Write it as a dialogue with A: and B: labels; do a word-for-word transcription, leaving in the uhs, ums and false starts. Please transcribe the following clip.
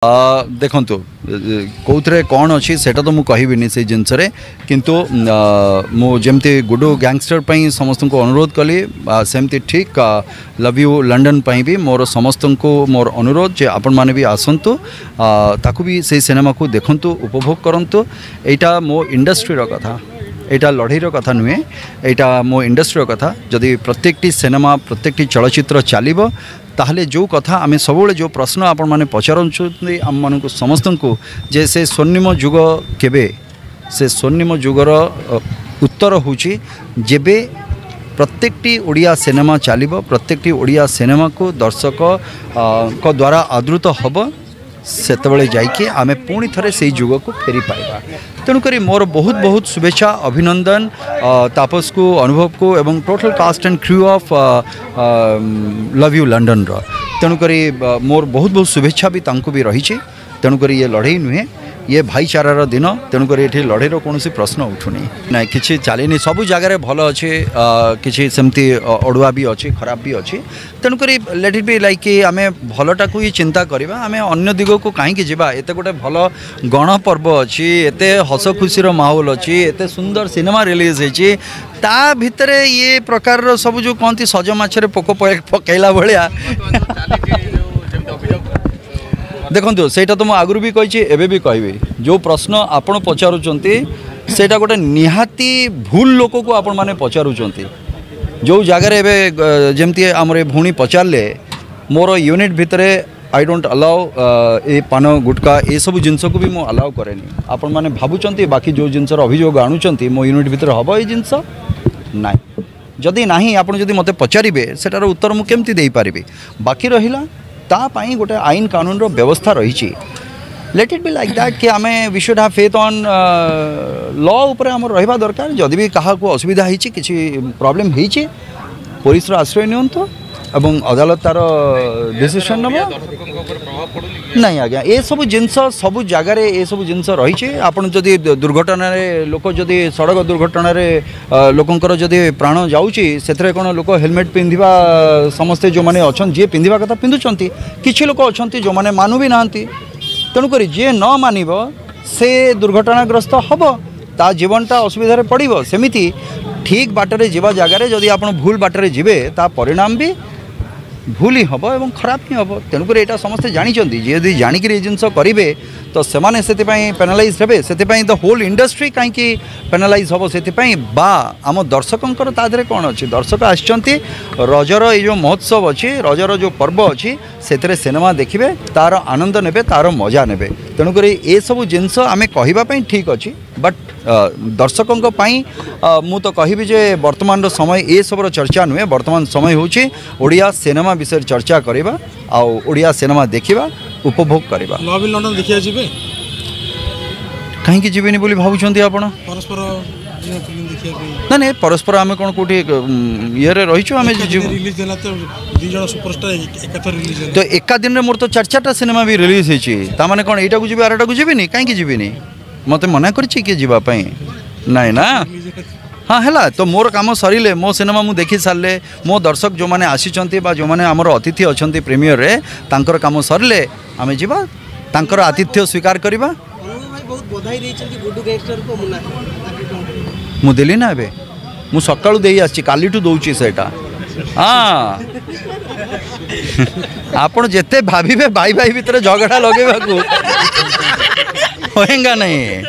A: ଦେଖନ୍ତୁ, କେଉଁଥିରେ କ'ଣ ଅଛି ସେଇଟା ତ ମୁଁ କହିବିନି ସେଇ ଜିନିଷରେ, କିନ୍ତୁ ମୁଁ ଯେମିତି ଗୁଡୁ ଗ୍ୟାଙ୍ଗଷ୍ଟର ପାଇଁ ସମସ୍ତଙ୍କୁ ଅନୁରୋଧ କଲି, ସେମିତି ଠିକ୍ ଲଭ୍ you London ପାଇଁ ବି ମୋର ସମସ୍ତଙ୍କୁ ମୋର ଅନୁରୋଧ ଯେ ଆପଣମାନେ ବି ଆସନ୍ତୁ, ତାକୁ ବି ସେଇ ସିନେମାକୁ ଦେଖନ୍ତୁ, ଉପଭୋଗ କରନ୍ତୁ। ଏଇଟା ମୋ ଇଣ୍ଡଷ୍ଟ୍ରିର କଥା, ଏଇଟା ଲଢ଼େଇର କଥା ନୁହେଁ, ଏଇଟା ମୋ ଇଣ୍ଡଷ୍ଟ୍ରିର କଥା। ଯଦି ପ୍ରତ୍ୟେକଟି ସିନେମା, ପ୍ରତ୍ୟେକଟି ଚଳଚ୍ଚିତ୍ର ଚାଲିବ, ତାହେଲେ ଯେଉଁ କଥା ଆମେ ସବୁବେଳେ, ଯେଉଁ ପ୍ରଶ୍ନ ଆପଣମାନେ ପଚାରୁଛନ୍ତି ଆମମାନଙ୍କୁ ସମସ୍ତଙ୍କୁ ଯେ ସେ ସ୍ୱର୍ଣ୍ଣିମ ଯୁଗ କେବେ, ସେ ସ୍ୱର୍ଣ୍ଣିମ ଯୁଗର ଉତ୍ତର ହେଉଛି ଯେବେ ପ୍ରତ୍ୟେକଟି ଓଡ଼ିଆ ସିନେମା ଚାଲିବ, ପ୍ରତ୍ୟେକଟି ଓଡ଼ିଆ ସିନେମାକୁ ଦର୍ଶକଙ୍କ ଦ୍ୱାରା ଆଦୃତ ହେବ, ସେତେବେଳେ ଯାଇକି ଆମେ ପୁଣି ଥରେ ସେଇ ଯୁଗକୁ ଫେରି ପାଇବା। ତେଣୁକରି ମୋର ବହୁତ ବହୁତ ଶୁଭେଚ୍ଛା, ଅଭିନନ୍ଦନ ତାପସକୁ, ଅନୁଭବକୁ ଏବଂ total cast and crew of love you ଲଣ୍ଡନର। ତେଣୁକରି ମୋର ବହୁତ ବହୁତ ଶୁଭେଚ୍ଛା ବି ତାଙ୍କୁ ବି ରହିଛି। ତେଣୁକରି ଇଏ ଲଢ଼େଇ ନୁହେଁ, ଇଏ ଭାଇଚାରାର ଦିନ। ତେଣୁକରି ଏଠି ଲଢ଼େଇର କୌଣସି ପ୍ରଶ୍ନ ଉଠୁନି। ନାଇଁ, କିଛି ଚାଲିନି, ସବୁ ଜାଗାରେ ଭଲ ଅଛି, କିଛି ସେମିତି ଅଡ଼ୁଆ ବି ଅଛି, ଖରାପ ବି ଅଛି। ତେଣୁକରି ଲେଟ୍ ଇଟ୍ ବି ଲାଇକ୍ କି ଆମେ ଭଲଟାକୁ ହିଁ ଚିନ୍ତା କରିବା, ଆମେ ଅନ୍ୟ ଦିଗକୁ କାହିଁକି ଯିବା? ଏତେ ଗୋଟେ ଭଲ ଗଣପର୍ବ ଅଛି, ଏତେ ହସ ଖୁସିର ମାହୋଲ ଅଛି, ଏତେ ସୁନ୍ଦର ସିନେମା ରିଲିଜ୍ ହେଇଛି, ତା ଭିତରେ ଇଏ ପ୍ରକାରର ସବୁ ଯେଉଁ କହନ୍ତି ସଜ ମାଛରେ ପୋକ ପକାଇଲା ଭଳିଆ। ଦେଖନ୍ତୁ, ସେଇଟା ତ ମୁଁ ଆଗରୁ ବି କହିଛି, ଏବେ ବି କହିବି, ଯେଉଁ ପ୍ରଶ୍ନ ଆପଣ ପଚାରୁଛନ୍ତି ସେଇଟା ଗୋଟେ ନିହାତି ଭୁଲ ଲୋକକୁ ଆପଣମାନେ ପଚାରୁଛନ୍ତି। ଯେଉଁ ଜାଗାରେ ଏବେ ଯେମିତି ଆମର ଏ ଭଉଣୀ ପଚାରିଲେ, ମୋର ୟୁନିଟ୍ ଭିତରେ I don't allow ଏ ପାନ ଗୁଟକା, ଏସବୁ ଜିନିଷକୁ ବି ମୁଁ ଆଲାଉ କରେନି। ଆପଣମାନେ ଭାବୁଛନ୍ତି ବାକି ଯେଉଁ ଜିନିଷର ଅଭିଯୋଗ ଆଣୁଛନ୍ତି, ମୋ ୟୁନିଟ୍ ଭିତରେ ହେବ ଏଇ ଜିନିଷ? ନାଇଁ। ଯଦି ନାହିଁ, ଆପଣ ଯଦି ମୋତେ ପଚାରିବେ, ସେଟାର ଉତ୍ତର ମୁଁ କେମିତି ଦେଇପାରିବି? ବାକି ରହିଲା ତା ପାଇଁ ଗୋଟେ ଆଇନ କାନୁନର ବ୍ୟବସ୍ଥା ରହିଛି। Let it be like that କି ଆମେ we should have faith on law ଉପରେ ଆମର ରହିବା ଦରକାର। ଯଦି ବି କାହାକୁ ଅସୁବିଧା ହେଇଛି, କିଛି ପ୍ରୋବ୍ଲେମ୍ ହେଇଛି, ପୋଲିସର ଆଶ୍ରୟ ନିଅନ୍ତୁ ଏବଂ ଅଦାଲତ ତାର ଡିସିସନ୍ ନେବ। ନାଇଁ ଆଜ୍ଞା, ଏସବୁ ଜିନିଷ ସବୁ ଜାଗାରେ ଏସବୁ ଜିନିଷ ରହିଛି। ଆପଣ ଯଦି ଦୁର୍ଘଟଣାରେ ଲୋକ, ଯଦି ସଡ଼କ ଦୁର୍ଘଟଣାରେ ଲୋକଙ୍କର ଯଦି ପ୍ରାଣ ଯାଉଛି, ସେଥିରେ କ'ଣ ଲୋକ ହେଲମେଟ୍ ପିନ୍ଧିବା ସମସ୍ତେ ଯେଉଁମାନେ ଅଛନ୍ତି, ଯିଏ ପିନ୍ଧିବା କଥା ପିନ୍ଧୁଛନ୍ତି, କିଛି ଲୋକ ଅଛନ୍ତି ଯେଉଁମାନେ ମାନୁ ବି ନାହାନ୍ତି। ତେଣୁକରି ଯିଏ ନ ମାନିବ ସେ ଦୁର୍ଘଟଣାଗ୍ରସ୍ତ ହେବ, ତା ଜୀବନଟା ଅସୁବିଧାରେ ପଡ଼ିବ। ସେମିତି ଠିକ୍ ବାଟରେ ଯିବା ଜାଗାରେ ଯଦି ଆପଣ ଭୁଲ ବାଟରେ ଯିବେ, ତା ପରିଣାମ ବି ଭୁଲ ହିଁ ହେବ ଏବଂ ଖରାପ ହିଁ ହେବ। ତେଣୁକରି ଏଇଟା ସମସ୍ତେ ଜାଣିଛନ୍ତି। ଯିଏ ଯଦି ଜାଣିକିରି ଏ ଜିନିଷ କରିବେ, ତ ସେମାନେ ସେଥିପାଇଁ ପେନାଲାଇଜ୍ ହେବେ। ସେଥିପାଇଁ ଦ ହୋଲ୍ ଇଣ୍ଡଷ୍ଟ୍ରି କାହିଁକି ପେନାଲାଇଜ୍ ହେବ ସେଥିପାଇଁ? ବା ଆମ ଦର୍ଶକଙ୍କର ତା ଦେହରେ କ'ଣ ଅଛି? ଦର୍ଶକ ଆସିଛନ୍ତି, ରଜର ଏଇ ଯେଉଁ ମହୋତ୍ସବ ଅଛି, ରଜର ଯେଉଁ ପର୍ବ ଅଛି, ସେଥିରେ ସିନେମା ଦେଖିବେ, ତା'ର ଆନନ୍ଦ ନେବେ, ତା'ର ମଜା ନେବେ। ତେଣୁକରି ଏସବୁ ଜିନିଷ ଆମେ କହିବା ପାଇଁ ଠିକ୍ ଅଛି, ବଟ୍ ଦର୍ଶକଙ୍କ ପାଇଁ ମୁଁ ତ କହିବି ଯେ ବର୍ତ୍ତମାନର ସମୟ ଏସବୁର ଚର୍ଚ୍ଚା ନୁହେଁ। ବର୍ତ୍ତମାନ ସମୟ ହେଉଛି ଓଡ଼ିଆ ସିନେମା ବିଷୟରେ ଚର୍ଚ୍ଚା କରିବା ଆଉ ଓଡ଼ିଆ ସିନେମା ଦେଖିବା, ଉପଭୋଗ କରିବା।
B: ଲଭ୍ ଇନ୍ ଲଣ୍ଡନ ଦେଖିବାକୁ ଯିବେ?
A: କାହିଁକି ଯିବେନି ବୋଲି ଭାବୁଛନ୍ତି ଆପଣ?
B: ପରସ୍ପର ଫିଲ୍ମ ଦେଖିବା ପାଇଁ।
A: ନାଇଁ ନାଇଁ, ପରସ୍ପର ଆମେ କ'ଣ କେଉଁଠି ଇଏରେ ରହିଛୁ? ଆମେ ଯିବୁ।
B: ରିଲିଜ୍ ହେଲା ତ ଦୁଇ ଜଣ ସୁପରଷ୍ଟାର ଏକାଥର ରିଲିଜ୍
A: ତ ଏକା ଦିନରେ ମୋର ତ ଚାରି ଚାରିଟା ସିନେମା ବି ରିଲିଜ୍ ହେଇଛି। ତାମାନେ କ'ଣ ଏଇଟାକୁ ଯିବି ଆରଟାକୁ ଯିବିନି? କାହିଁକି ଯିବିନି? ମୋତେ ମନା କରିଛି କିଏ ଯିବା ପାଇଁ? ନାଇଁ ନା। ହଁ, ହେଲା ତ ମୋର କାମ ସରିଲେ, ମୋ ସିନେମା ମୁଁ ଦେଖି ସାରିଲେ, ମୋ ଦର୍ଶକ ଯେଉଁମାନେ ଆସିଛନ୍ତି ବା ଯେଉଁମାନେ ଆମର ଅତିଥି ଅଛନ୍ତି ପ୍ରିମିୟରରେ, ତାଙ୍କର କାମ ସରିଲେ ଆମେ ଯିବା, ତାଙ୍କର ଆତିଥ୍ୟ ସ୍ୱୀକାର କରିବା।
C: ବହୁତ ବଧାଇ ଦେଇଛନ୍ତି ଗୁଡୁ ଗ୍ୟାଙ୍ଗଷ୍ଟରକୁ ମୁନା।
A: ମୁଁ ଦେଲି ନା, ଏବେ ମୁଁ ସକାଳୁ ଦେଇ ଆସିଛି, କାଲିଠୁ ଦେଉଛି ସେଇଟା। ହଁ, ଆପଣ ଯେତେ ଭାବିବେ ଭାଇ ଭାଇ ଭିତରେ ଝଗଡ଼ା ଲଗେଇବାକୁ, होएगा नहीं।